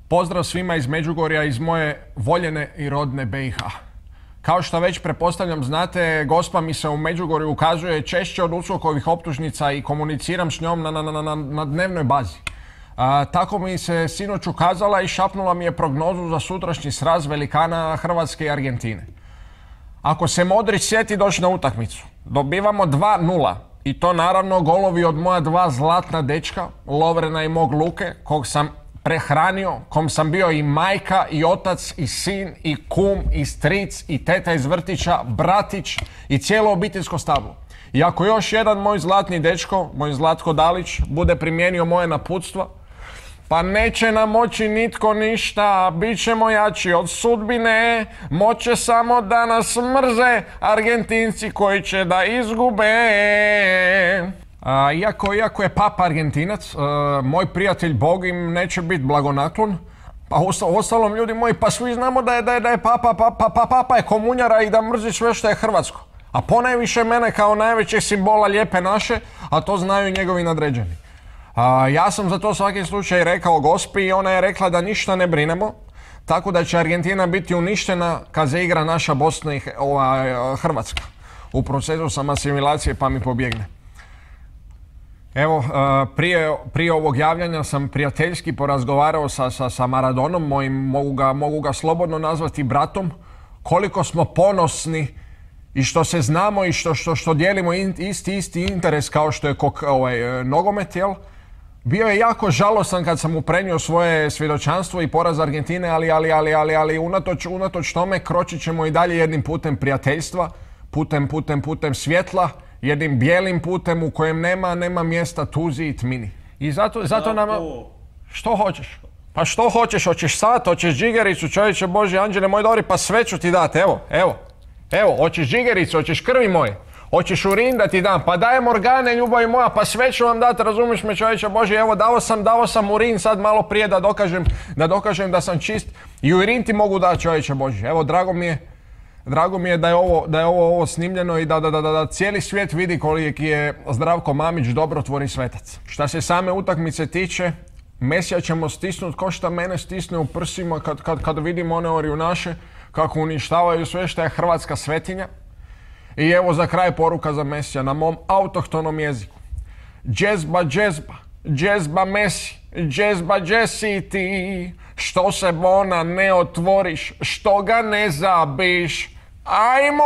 Pozdrav svima iz Međugorja, iz moje voljene i rodne BiH. Kao što već pretpostavljam znate, Gospa mi se u Međugorju ukazuje češće od USKOK-ovih optužnica i komuniciram s njom na dnevnoj bazi. Tako mi se sinoć ukazala i šapnula mi je prognozu za sutrašnji sraz velikana Hrvatske i Argentine. Ako se Modrić sjeti doći na utakmicu, dobivamo 2:0. I to naravno golovi od moja dva zlatna dečka, Lovrena i mog Luke, kog sam prehranio, kom sam bio i majka, i otac, i sin, i kum, i stric, i teta iz vrtića, bratić i cijelo obiteljsko stablo. I ako još jedan moj zlatni dečko, moj Zlatko Dalić, bude primijenio moje naputstva, pa neće nam moći nitko ništa, bit ćemo jači od sudbine, moće samo da nas mrze Argentinci koji će da izgube. Iako je papa Argentinac, moj prijatelj Bog im neće biti blagonaklon. Pa ostalom ljudi moji, pa svi znamo da je papa je komunjara i da mrzi sve što je hrvatsko. A ponajviše mene kao najvećeg simbola lijepe naše, a to znaju njegovi nadređeni. Ja sam za to svaki slučaj rekao Gospi i ona je rekla da ništa ne brinemo, tako da će Argentina biti uništena kad se igra naša Bosna i Hrvatska. U procesu sam asimilacije pa mi pobjegne. Evo, prije ovog javljanja sam prijateljski porazgovarao sa Maradonom, mogu ga slobodno nazvati bratom, koliko smo ponosni i što se znamo i što dijelimo isti interes kao što je nogomet, jel? Bio je jako žalostan kad sam mu prenio svoje svjedočanstvo i poraz Argentine, ali unatoč tome kročit ćemo i dalje jednim putem prijateljstva, putem svjetla, jednim bijelim putem u kojem nema mjesta tuzi i tmini. I zato nama... Što hoćeš? Pa što hoćeš? Hoćeš sat, hoćeš džigericu, čovječe Boži, anđele moj dobri, pa sve ću ti dati, evo, hoćeš džigericu, hoćeš krvi moje, hoćeš urin da ti dam, pa dajem organe, ljubavi moja, pa sve ću vam dati, razumiješ me čovječe Boži, evo dao sam urin sad malo prije da dokažem da sam čist i urin ti mogu dati čovječe Boži, evo drago mi je da je ovo snimljeno i da cijeli svijet vidi koliki je Zdravko Mamić dobrotvorni svetac. Šta se same utakmice tiče, Mesija ćemo stisnuti ko šta mene stisne u prsima kad vidimo one orijunaše kako uništavaju sve što je hrvatska svetinja. I evo za kraj poruka za Mesija na mom autohtonom jeziku. Džezba, džezba, džezba Mesi, džezba džesi ti, što se bona ne otvoriš, što ga ne zabiš. Ajmo!